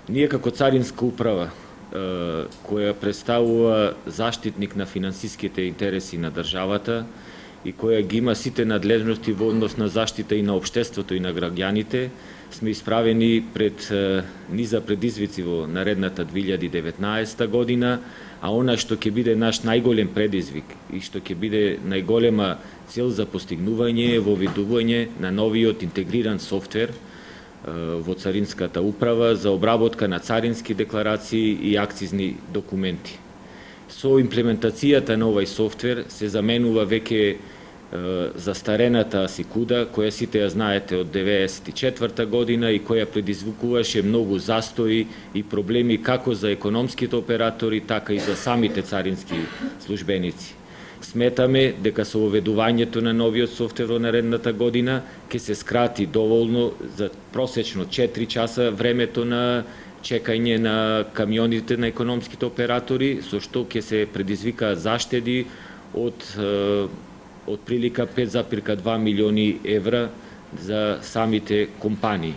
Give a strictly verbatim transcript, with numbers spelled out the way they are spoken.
Ние како Царинска управа, која представува заштитник на финансиските интереси на државата и која ги има сите надлежности во однос на заштита и на општеството и на граѓаните, сме исправени пред низа предизвици во наредната две илјади и деветнаесета година, а она што ќе биде наш најголем предизвик и што ќе биде најголема цел за постигнување е воведување на новиот интегриран софтвер во Царинската управа за обработка на царински декларации и акцизни документи. Со имплементацијата на овој софтвер се заменува веќе застарената Асикуда, која сите ја знаете од деветдесет и четврта година и која предизвикуваше многу застои и проблеми како за економските оператори, така и за самите царински службеници. Сметаме дека со воведувањето на новиот софтвер во наредната година ќе се скрати доволно за просечно четири часа времето на чекање на камионите на економските оператори, со што ќе се предизвика заштеди од од прилика пет зарез два милиони евра за самите компании.